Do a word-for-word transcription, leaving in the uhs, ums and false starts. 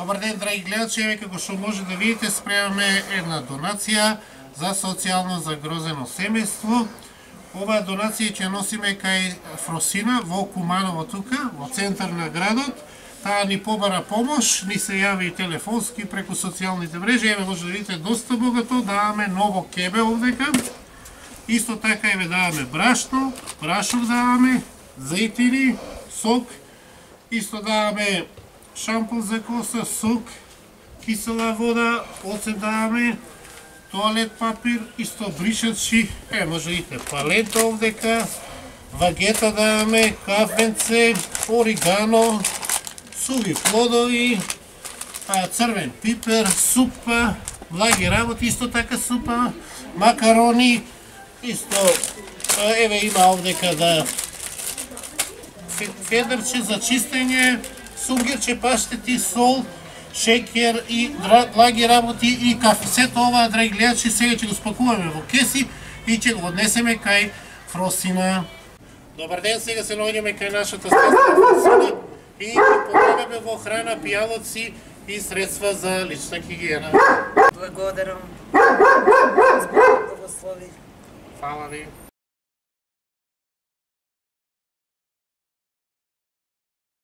Добар ден, драги гледачи, еве како што може да видите, спремаме една донација за социјално загрозено семејство. Оваа донација ќе носиме кај Фросина во Куманово тука, во центар на градот. Таа ни побара помош, ни се јави телефонски преку социјалните мрежи. Еве може да видите доста богато, даваме ново кебе овдека. Исто така еве даваме брашно, прашок даваме, зејтини, сок. Исто даваме шампун за коса, сок, кисела вода, оцет даваме, тоалет папир, исто бришачи, е, може да видите палета овдека, вагета даваме, кафенце, оригано, суви плодови, црвен пипер, супа, благи работи, исто така супа, макарони, исто, еве има овдека да федерче за чистење, сунгирче, паштети, сол, шекер и благи работи и кафе. Сето ова, драги гледачи, сега ќе го спакуваме во кеси и ќе го однесеме кај Фросина. Добар ден, сега се наоѓаме кај нашата стесна Фросина и ќе помагаме во храна, пијалоци и средства за лична хигиена. Благодарам. Због благослови. Фала ви.